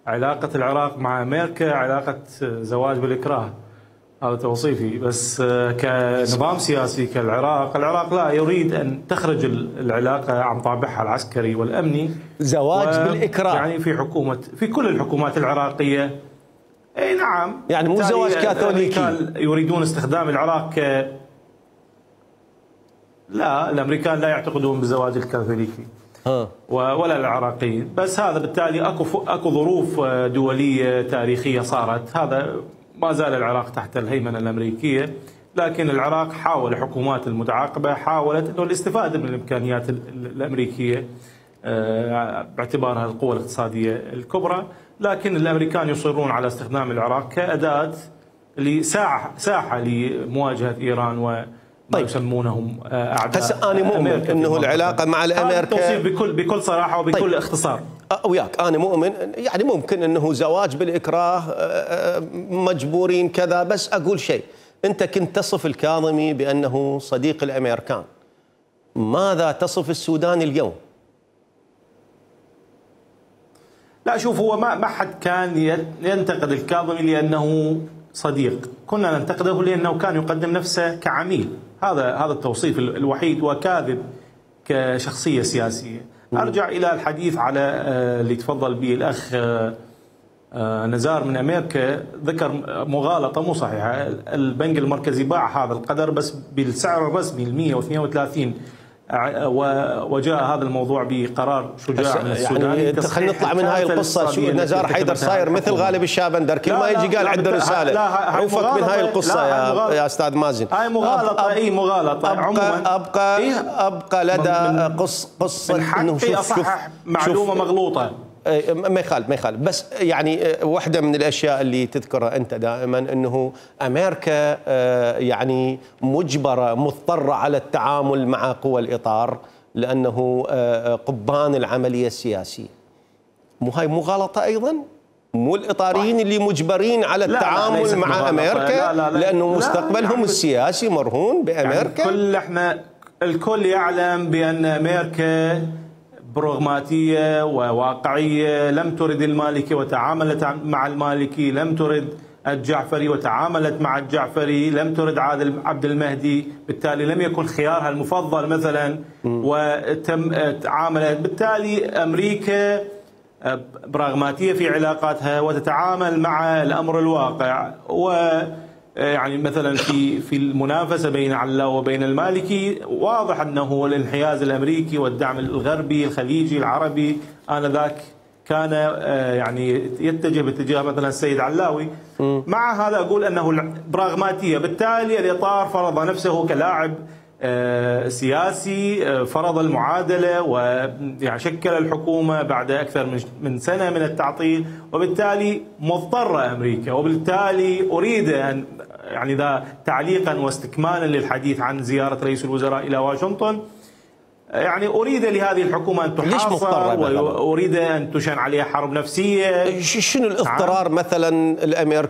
علاقة العراق مع أمريكا علاقة زواج بالإكراه، هذا توصيفي. بس كنظام سياسي العراق لا يريد أن تخرج العلاقة عن طابعها العسكري والأمني. زواج بالإكراه يعني في كل الحكومات العراقية. أي نعم، يعني مو زواج كاثوليكي. يريدون استخدام العراق لا، الأمريكان لا يعتقدون بالزواج الكاثوليكي ولا العراقيين. بس هذا بالتالي اكو ظروف دوليه تاريخيه صارت، هذا ما زال العراق تحت الهيمنه الامريكيه، لكن العراق حاول، الحكومات المتعاقبه حاولت انه الاستفاده من الامكانيات الامريكيه باعتبارها القوه الاقتصاديه الكبرى، لكن الامريكان يصرون على استخدام العراق كاداه ساحه لمواجهه ايران و طيب يسمونهم اعداء. هسه انا مؤمن انه العلاقه مع الامريكا بكل صراحه وبكل اختصار. وياك انا مؤمن يعني ممكن انه زواج بالاكراه، مجبورين كذا. بس اقول شيء، انت كنت تصف الكاظمي بانه صديق الامريكان، ماذا تصف السوداني اليوم؟ لا شوف، هو ما حد كان ينتقد الكاظمي لانه صديق، كنا ننتقده لانه كان يقدم نفسه كعميل. هذا التوصيف الوحيد، وكاذب كشخصيه سياسيه. ارجع الى الحديث على اللي تفضل به الاخ نزار من امريكا، ذكر مغالطه مو صحيحه. البنك المركزي باع هذا القدر بس بالسعر الرسمي 132، وجاء هذا الموضوع بقرار شجاع من السودان. يعني خلينا نطلع من هاي القصه. شو نزار حيدر صاير مثل غالب الشابندر، كل ما يجي قال عنده رساله. عوفك من هاي القصه يا استاذ مازن. هاي مغالطه. اي مغالطه عموما. ابقى لدى قصه من حقي اصحح معلومه مغلوطه. ما يخالف. بس يعني واحدة من الأشياء اللي تذكرها أنت دائما أنه أمريكا يعني مضطرة على التعامل مع قوى الإطار لأنه قبان العملية السياسية. مو هاي مغالطة أيضا؟ مو الإطاريين اللي مجبرين على التعامل مع أمريكا لأنه مستقبلهم السياسي مرهون بأمريكا؟ يعني الكل يعلم بأن أمريكا براغماتية وواقعية، لم ترد المالكي وتعاملت مع المالكي، لم ترد الجعفري وتعاملت مع الجعفري، لم ترد عبد المهدي، بالتالي لم يكن خيارها المفضل مثلا تعاملت. بالتالي أمريكا براغماتية في علاقاتها وتتعامل مع الأمر الواقع. يعني مثلا في المنافسه بين علاء وبين المالكي واضح انه الانحياز الامريكي والدعم الغربي الخليجي العربي انذاك كان يعني يتجه باتجاه مثلا السيد علاوي. مع هذا اقول انه براغماتيه، بالتالي الاطار فرض نفسه كلاعب سياسي، فرض المعادله ويعني شكل الحكومه بعد اكثر من سنه من التعطيل، وبالتالي مضطره امريكا. وبالتالي اريد ان يعني ذا تعليقا واستكمالا للحديث عن زياره رئيس الوزراء الى واشنطن، يعني اريد لهذه الحكومه ان تحاصر واريد ان تشن عليها حرب نفسيه. شنو الاضطرار مثلا الامريكي